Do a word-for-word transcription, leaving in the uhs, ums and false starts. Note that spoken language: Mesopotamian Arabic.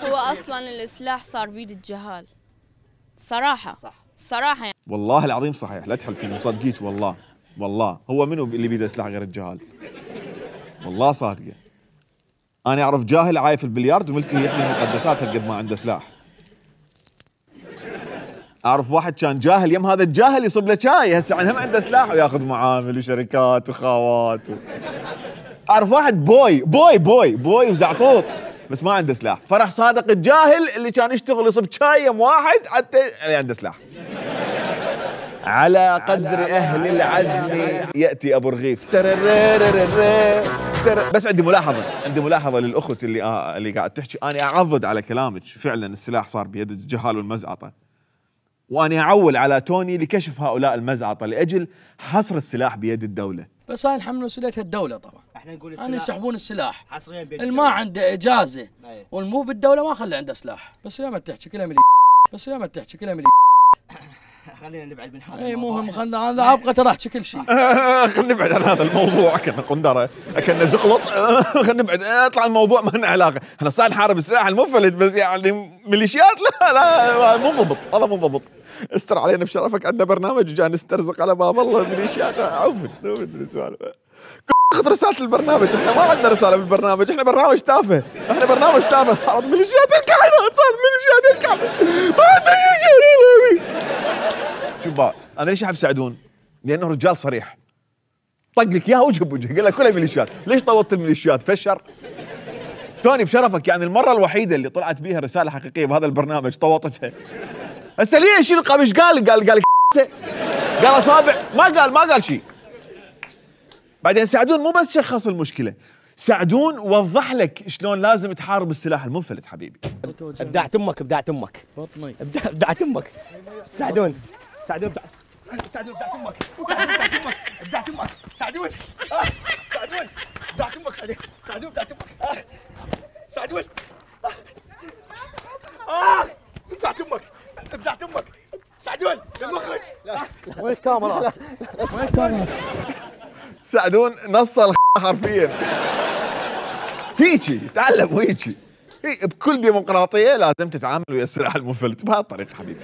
هو اصلا السلاح صار بيد الجهال صراحه. صح صراحه يعني. والله العظيم صحيح، لا تحلفين مصدقيك والله. والله هو منو اللي بيده سلاح غير الجهال؟ والله صادقه. انا اعرف جاهل عايف البليارد وملتهي يحمي مقدساتها قد ما عنده سلاح. اعرف واحد كان جاهل يم هذا الجاهل يصب له شاي، هسه هم عنده سلاح وياخذ معامل وشركات وخاوات و... اعرف واحد بوي بوي بوي بوي وزعطوط بس ما عنده سلاح، فرح صادق الجاهل اللي كان يشتغل يصب شاي يم واحد حتى اللي عنده سلاح. على قدر اهل العزم ياتي ابو رغيف. بس عندي ملاحظه، عندي ملاحظه للاخت اللي آه اللي قاعد تحكي. انا اعضد على كلامك، فعلا السلاح صار بيد الجهال والمزعطه، وأنا أعول على توني لكشف هؤلاء المزعطة لأجل حصر السلاح بيد الدولة. بس هاي نحمل مسؤوليتها الدولة طبعا. احنا نقول السلاح أنا يسحبون السلاح حصريا بيد اللي ما عنده إجازة أيه. والمو بالدولة ما خلى عنده سلاح. بس يا ما تحكي كلام اللي بس يا ما تحكي كلام اللي خلينا نبعد من هذا اي مهم. خلنا هذا ابغى ترى احكي كل شيء. خلينا نبعد عن هذا الموضوع، كنا قندره كنا زقلط. خلينا نبعد، اطلع الموضوع ما لنا علاقه. احنا صار نحارب السلاح المنفلت بس يعني ميليشيات لا لا مو ضبط، هذا مو ضبط. استر علينا بشرفك، عندنا برنامج وجاي نسترزق على باب الله ميليشيات. عفوا سوالف. اخذ رساله البرنامج، احنا ما عندنا رساله بالبرنامج، احنا برنامج تافه، احنا برنامج تافه. صارت ميليشيات الكائنات، صارت ميليشيات الكائنات. ما عندنا شيء. شوف بقى انا ليش احب سعدون؟ لانه رجال صريح، طق لك اياها وجه بوجه، قال لك كلها ميليشيات. ليش طوطت الميليشيات؟ فشر توني بشرفك، يعني المره الوحيده اللي طلعت بيها رساله حقيقيه بهذا البرنامج طوطتها. هسه ليش القى ايش قال؟ قال قال قال اصابع، ما قال ما قال شيء. بعدين سعدون مو بس شخص المشكله، سعدون وضح لك شلون لازم تحارب السلاح المنفلت. حبيبي ابدعت امك، ابدعت امك بطني ابدعت امك. سعدون سعدون ابدعت سعدون ابدعت امك. ابدعت امك سعدون. سعدون ابدعت امك. سعدون ابدعت امك. سعدون اه ابدعت امك. ابدعت امك سعدون. المخرج وين الكاميرات؟ وين الكاميرات؟ سعدون نص الخ حرفيا. هيجي تعلم وهيجي. بكل ديمقراطيه لازم تتعامل ويا السلاح المنفلت بهالطريقه حبيبي.